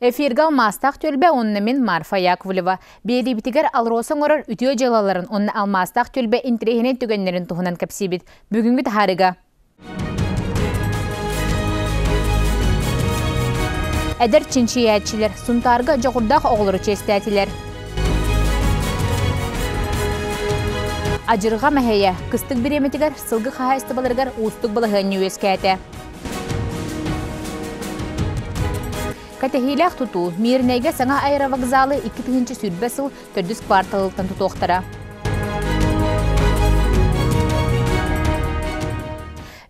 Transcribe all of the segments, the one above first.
Эфирга алмастақ төлбе онны мен Марфа Яковлева. Бейді бітігер алросын орар үтіо жалаларын онны алмастақ төлбе интерегінен түгенлерін тұхынан кәпсебет. Бүгінгі тахарыға. Әдір чинчиятчилер, сунтарга жоғырдақ оғылыры честәтілер. Ажырға мәхейе, кыстық біреметігер, сылғы қағайсты балырғар ұстық балығын өскәті. Катехилях тұту, мирнейге саңа аэровокзалы 2-тігінші сүрбәсіл түрдіс кварталылтан тұтуқтыра.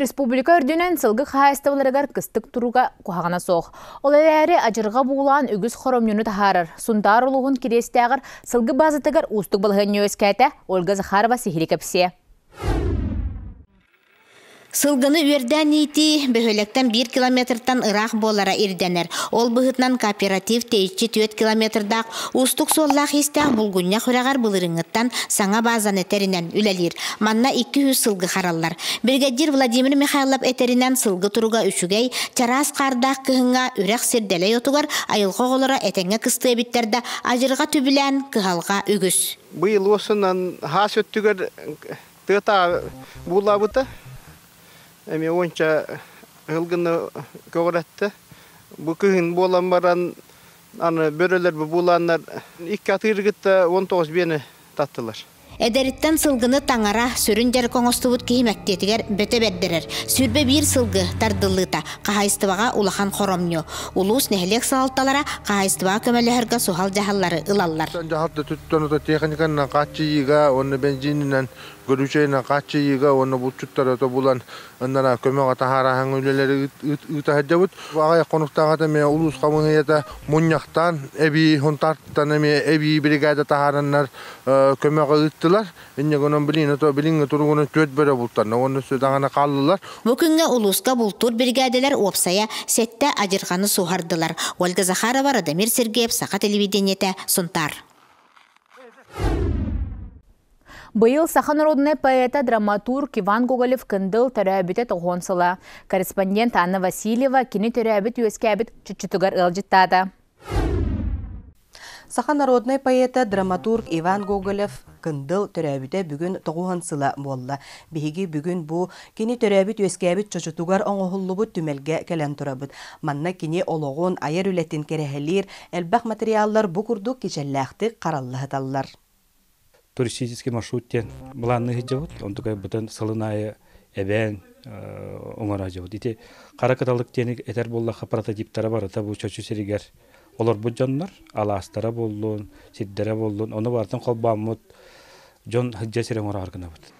Республика үрдінен сылғы қағайстывыларығар кыстық тұруға қуағана соқ. Ол әләрі ажырға бұғылан үгіз хоромнюны тахарыр. Сундар ұлығын керестіғыр сылғы базытығыр ұстық балығын өскәті Ольга Захарова сихiri кәпсе. Сылгыны үрдән ити бөхөлектен 1 километртан ырақ болара ирденер. Ол бұғытнан кооператив тейчі 4 километрдақ устық соллақ истәқ бұлғыння құрағар бұлырыңыттан саңа базан этерінен үлелер. Манна 200 сылгы қаралар. Бригадир Владимир Михайлов этерінен сылгы тұруға үшігей, чарас қардақ кығыңа үрәқ сирделей отуғар айылға олара әтеңе кысты біттерді ажырға түбілән кығалға үгіз. Бұйыл осынан хас өттігер тұта бұлабыты. Эми онча ылгыны көғіретті. Бұ күйін болан баран бөрелер бұланлар 2 атырғытта 19 бені таттылар. Эдериттен сылгыны таңара сүріндер коңостубут кеймәктетігер бөте бәддерер. Сүрбе 1 сылгы тардылыта қағайстываға улахан хоромню. Улус нәхелек салтталара қағайстываға көмәліхерға сухал жағалары ылаллар. Жағалды түттіні техниканна қатчыйыға, оны бензинінен көрушейна қатчыйыға, оны бұлчуттары бұлан ындана көмеға тахарахан өлелері үтәхәджабыт. Ағай қонықтағата мен улус қамыңыйата мұняқтан, әбей хонтарттан әбей бригада тахараннар көмеға үттілер. Инне гонон билинге тургуны төт бөрө бултарна, оны сөдағана қалылар. Бүкінге улуска бултур бригаделер опсая сетте ажырғаны сухардылар. Ольга Захарова, Радамир Сергеев, Сақа телевидениете, Сунтар. Быйыл Саха народный поэта, драматург Иван Гоголев кындыл төрәбіті тоғонсыла. Корреспондент Анна Васильева кені төрәбіт өскәбіт чүчітігар ылжыттады. Саха народный поэта, драматург Иван Гоголев кындыл төрәбіті бүгін тоғонсыла болла. Беги бүгін бұ кені төрәбіт өскәбіт чүчітігар оңғылыбыт түмелге кәлен тұрабыт. Манна кені олығын айыр үлетін керехелер, әлбәқ материаллар бұ күрдік кечелләқті қараллығыталлар. Туристический маршруттен бұланны жауыт, онтуға бұтын сылынайы әбән оңара жауыт. Ите қарақаталық тенік әтер боллаға прототиптары бар, бұл чөчі серігер. Олар бұл жонлар, аластара болуын, сиддері болуын, оны бартын қолбамыд, жон хыджа серен оңара арғына бұд.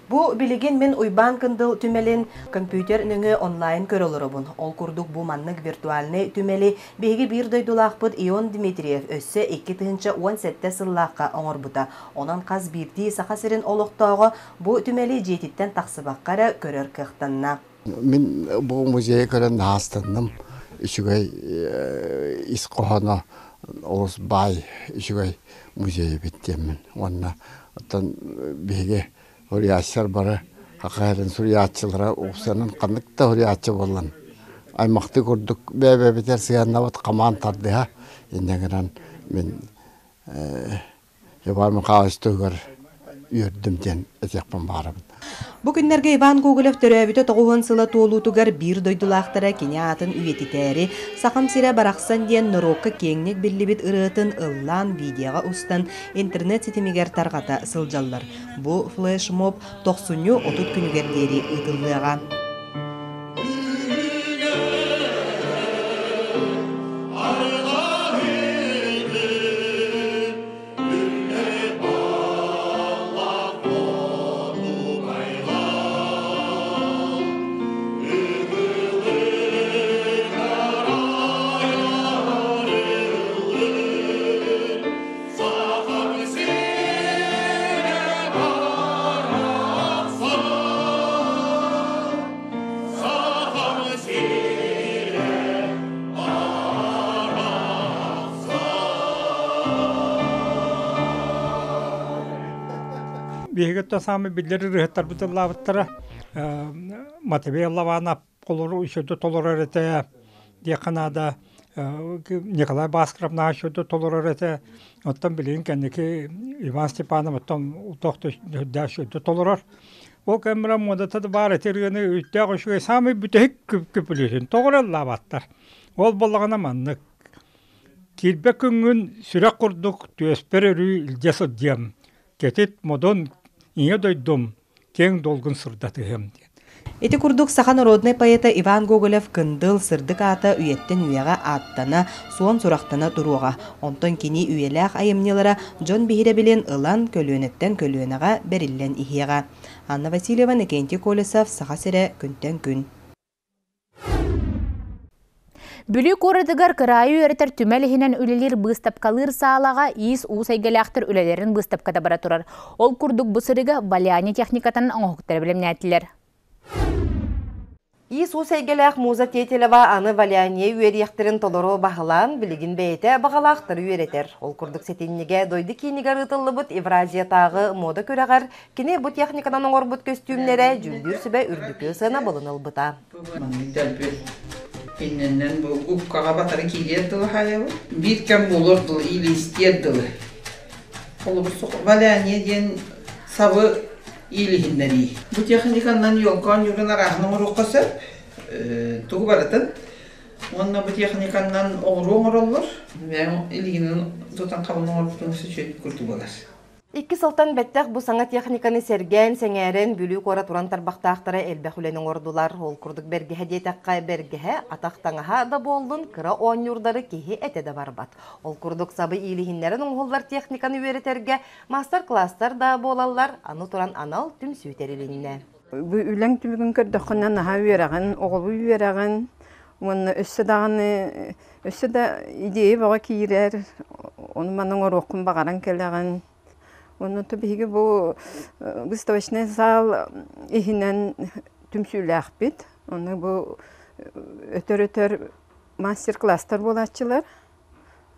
Бу билеген мен уйбан кындыл түмелин компьютер нүңі онлайн көрілірібін. Ол күрдік бу маннык виртуальный түмели беги бір дойдулақпыд Ион Дмитриев өссі 2-17 сыллаққа оңыр бұта. Онан қаз бірді сақасырын олықтауғы бу түмели жетіттен тақсыбаққары көрір кықтанна. Мен бу музей көрін астынным. Үшігай исқоғана олыс бай үшігай музей біттемін. Онна беги Hürriyatçılar bari hakikaten hürriyatçılara uğsanın kanlıkta hürriyatçı bolan. Aymaktı kurduk bebe biter siyanlavat kaman tardı ha. İnneğinden ben yaparım kağıstığır ürdümden etekman barım. Bu günlerge Iván Gogolev töröbüte toğuğun sıla toğulutugar bir doydulaqtara kene atın üyetiteri, saqam sire baraqsan diyen norokka kengnek birlibit ırıtın ıllan videoga ustan internet sitimiger targata sıljallar. Bu flash mob 90-30 günügerleri ıtıllığa. Бігетті самы білдері рүхеттар бұтылабыттары матебе лавана колору ишөдө толорор эте де Канада Николай Баскаров нашөдө толорор эте оттан билин кенеки Иван Степанов оттан утокто дашөдө толорор. Ол камера модата бар этергени үттө көшүгө самый бүтек көпүлүсүн тогоралла баттар. Ол болгона маннык килбе күнгүн сүрөк курдук төспөрөрү илжесо диям. Кетет модон ине дойдум кең долгун сырдатыгым. Эти курдук саха народный поэта Иван Гоголев кындыл сырдык ата үйеттен үйеға аттана, суон сурақтана туруға. Онтон кини үйеләк айымнелара Джон Бихире билен ылан көлөнеттен көлөнаға бериллен ихеға. Анна Васильева, Никентий Колесов, саха сере күнтен күн. Бүлі көрідігер кырайы өретер түмәліхінен үлелер бұстапкалыр саалаға иіс ұсайгеляқтыр үлелерін бұстапкада бара тұрар. Ол күрдік бұсырығы баляне техникатанын оңықтары білімне әтілер. Иіс ұсайгеляқ муза тетелева аны валяне үйерияқтырын толыру бағылан білігін бәйті бағалақтыр үйеретер. Ол күрдік сетеннеге дойды кейінігер ұтылы бұд Евразиятағы мода көрағар, кене бұд техникадан оңыр бұд көстюмлері жүлдір сүбе үрдікі сына болыныл бұта. Иннен бу упкага батары киерди хаяу. Бир кем болорду или истерди. Олбусу валяне ден сабы или хиннери. Бу техникандан йолкан югына рахны уруккасы тугу баратын. Онна бу техникандан оңроллор. Мен илигинин тотан кабылын ордун сөчөт күртү болар. Икки сылтан бәттәк бу саңа техниканы серген, сәңәрен, бүлі кора туран тарбақтақтары әлбәхүленің ордулар. Ол күрдік бәргеһе детаққа бәргеһе, атақтаңаға да болдың, кыра он юрдары кейі әтеді барбат. Ол күрдік сабы илихинлерін оңғылар техниканы өретерге, мастер-класстар да болалар, аны туран анал түм сүйтерелінне. Бу үләң түмігін көрдіқынан аға өйерағын, оғылы өйерағын, оны өссі да идея баға кейірер, оны маның орықын бағаран келеген. Onun tabii bu выставочный zal ihinen tümsüylək bit. Onu bu ötör master-klasslar bolatçılar.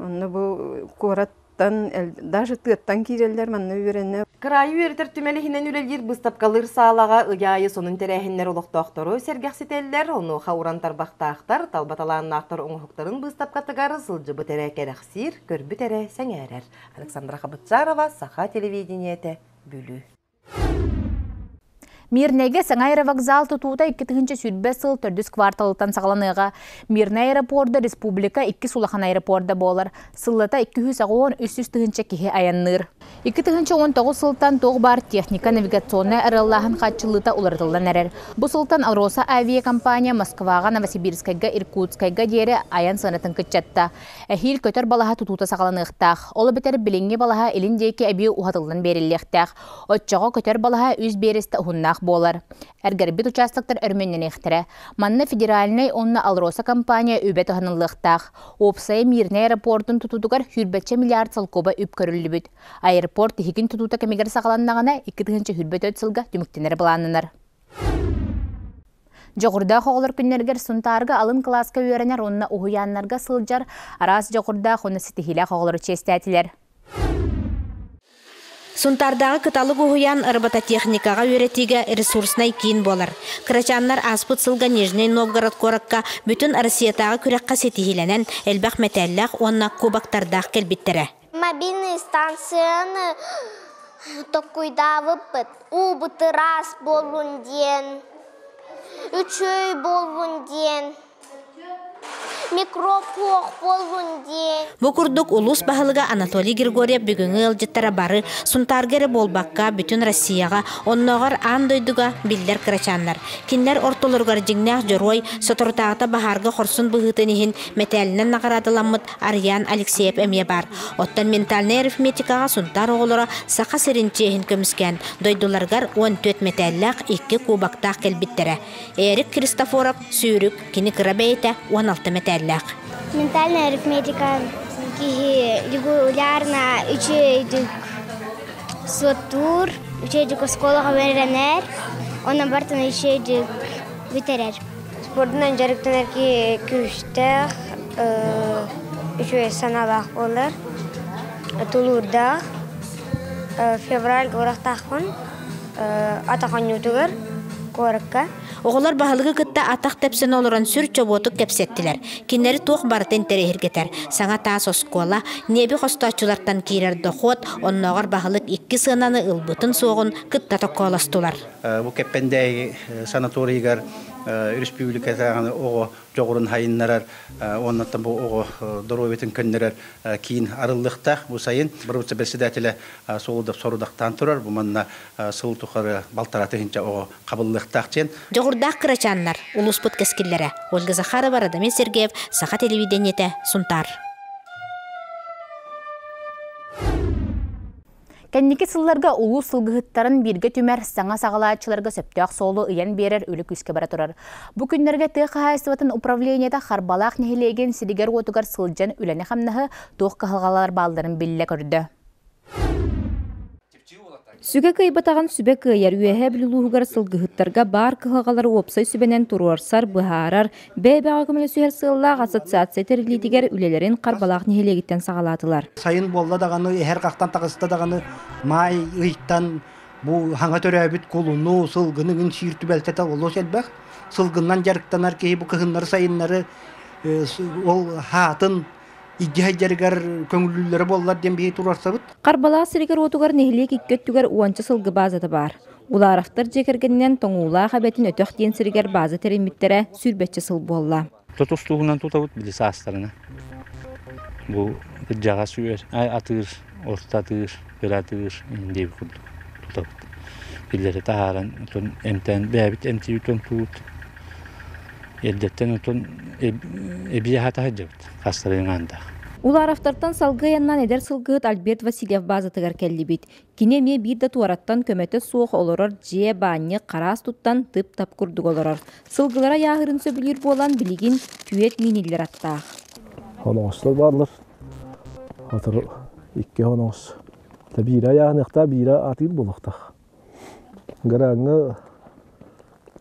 Onu bu korattan, даже tığıttan kirerler manna öğrenler. Kırayı öğretir tümelihinen ülelir bıstapkalır sağlağa ıgayı sonun terəhinler oluqtaqtары sergəxsitəller. Onu xauran tarbaqtaqtar, talbatalanın aqtar oңuqtарын bıstapkatıgarı sılcı bütere kerəxsir, körbü tere səngərər. Александра Хабытчарова, Саха телевидениеті, Бүлі. Мирнеге саңайры вокзал тұтуыда 2-тігінші сүрбе сыл 4 кварталытан сағыланыға. Мирна аэропорда республика 2 сулахан аэропорда болар. Сыллата 210-300-тігінші кеге аянныр. 2-19 сылтан тоғы бар техника навигационная араллахын қатчылыта улардылдан әрер. Бұ сылтан Алроса авиакомпания Москваға, Новосибирскайга, Иркутскайга дері аян сынатын күтчатта. Әхил көтер балаға тұтуыта сағыланықтақ. Олы бітер біліңге балаға еліндейкі әбей ұғатылдан беріліктақ. Отчаға көтер балаға үз берісті ұғыннақ болар. Әргәрбет участоктар өрменнен ехтірі. Манна федеральный онна Алроса компания өбет ұғынылықтақ. Опсай Мирна аэропортын тұтудығар хүрбетче миллиард салкоба үп көрілі бүт. Аэропорт тихигин тұтута кемегер сағаланнағына 2-тігінші хүрбет өт сылға түміктенер бұланынар. Жоғырда қоғылыр күннергер сұнтарғы алын класска өйеренер онна ұғыянларға сылжар арас жоғырда қоны сетихилі қоғылыр честәтілер. Сунтардағы кыталы гугуян арбата техникаға өретиге ресурснай кейін болар. Крачаннар аспыт сылға Нижний Новгород коракка бүтін Россиятағы күрекқа сетихиленен әлбәқ мәтәлләқ онна кубактардақ келбеттері. Мобильный станцияны токуйдавы убыты раз болун ден, үчөй болун ден. Микропоқ болун ден. Бу курдук улус бахылыга Анатолий Григорьев бүгүнгө ылжыттара бары сунтаргері болбакка бүтүн Россияга онногор андойдуга биллер кырачаннар. Кинлер ортолоргар жиңнах жорой соторутагата бахарга хорсун быгытынихин металинен нагырадыламмыт Арьян Алексеев эмие бар. Оттан ментальный арифметикага сунтар оголора сака сиринчехин көмүскән. Дойдуларгар 14 металлак 2 кубактак келбиттере. Эрик Кристофоров сүйрүк кини кырабейте 16 металл. Ментальная арифметика регулярно учейдик сотур, учейдик школага веренер, онан бартын учейдик битерер. Спорттан жарыктанарки күштер, учей саналах болар, тулурда, февраль горақтақын, атақан ютугар, коракка. Оғылар бағылығы кытта атақ тәпсін олыран сүр чоботық кәпсеттілер. Кеннері тоқ барытын тәрехіргетер. Саңа таас оскола, небі қостачылартан кейрер доқот, оннағар бағылық 2 сынаны ылбытын соғын кытта тоққоластылар. Бұл кәппендей санаторийгар республикатағаны оғы жоғырын хайыннарар, оннаттан бұл оғы дұроветін көннерер кейін арылықтақ. Бұл сайын бір өтсі бәсідәтілі солудап сорудақтан тұрар. Бұл манна сыл тұқары балтаратығынша оғы қабылықтақ чен. Жоғырдақ қырачанлар, ұлыс бұт кәскелері. Ольга Захарова, Радамин Сергеев, Саха телевидениеті, Сунтар. Кәннеке сылларга улу сылгыһыттарын бирге түмәр саңа сағалаатчыларга сөптөк солу ыян берер үлі күске бара турар. Бу күннәргә тык хайсыбатын управлениеда харбалак нехилеген сидигер отугар сылжан үләне хамнаһы тоқ кахалгалар балдарын билле көрдө. Сүгэ кыйбатаган сүбе кыйар үеһе билулугар сылгыһыттарга бар кыһагалары опсай сүбенен туруарсар быһаарар бэбэга көмөлө сүһэр сыллаах ассоциация терилитигер үлелерин карбалаах нехилегиттен сагалатылар. Сайын болла даганы эхер кактан тагыста даганы май ыйттан бу хаңа төрөбүт кулуну сылгынын шииртү белтете оло селбек сылгыннан жарыктанар ки бу кыһыннары сайыннары ол хатын Иггайжаргар көңүллүлөрү боллар дем бей турарсабыт. Карбалаа сиригер отугар нехилек иккөттүгер уанчы сылгы базаты бар. Уларафтар жекергеннен тоңуулаа хабетін өтөк ден сиригер базы теремиттере сүрбетче сыл болла. Тотустугунан тутабыт билис астарына. Бу жага сүйер, атыр, ортатыр, бератыр, деп тутабыт. Биллери тааран, тон эмтен бэбит эмти утон тут. Елдеттен утон эбие хата хаджабыт. Хастарынганда. Уларафтартан салгыяннан эдер сылгыт Альберт Васильев базатыгар келлибит. Кинеме бирде туараттан көмөтө суох олорор же бааньы караас туттан тып тап курдук олорор. Сылгылара яахырын сөбүлүр болан билигин түйет миниллер аттаах. Хоноостор барлар. Атыр 2 хоноос. Табира яахныкта бира атыр болуктах. Гараңы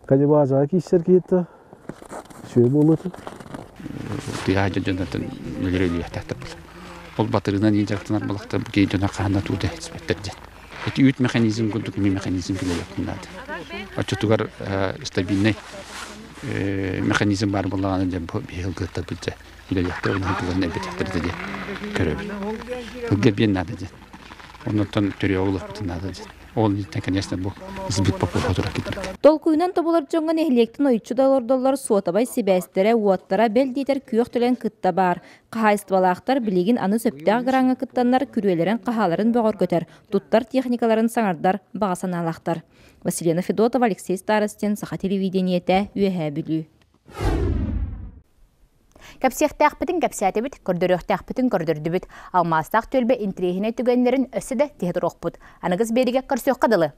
калибаза киссер кетти. Шөй болот. Тиһаҗа җаннатын лелерели яхтатып. Ол батырынан инжектор булакта бу кейдән кана туды хисбәттә. Эти ют механизм гүдүк механизм килә якынлады. Ачытугар стабильный механизм бар булган дип бил гытта битә. Илә якта уны булган бит яктырды дип көрөб. Бу гебен нада ди. Оннан төрөөлүк битнада ди. Ол итен конечно бу избит популярдыра кетти. Толкуйнан тобулар жоңган эхлектин ойчу доллар суотабай себестере уоттара белдитер күйөктөлен кытта бар. Кахайствалаактар билигин аны сөптөк граңга кыттаннар күрүелерин кахаларын бөгөр көтөр. Туттар техникаларын саңардар бага саналактар. Василина Федотова, Алексей Старостин, Саха телевидениете, үеһэ бүлүү. Кәпсияқтақ кәпсиятебит, көрдөрөқтақ бітін көрдөрдүбіт. Алмастақ төлбе интригіне түгенлерін өсі де тегдір оқпыд. Анығыз беріге көрсөк қадылы.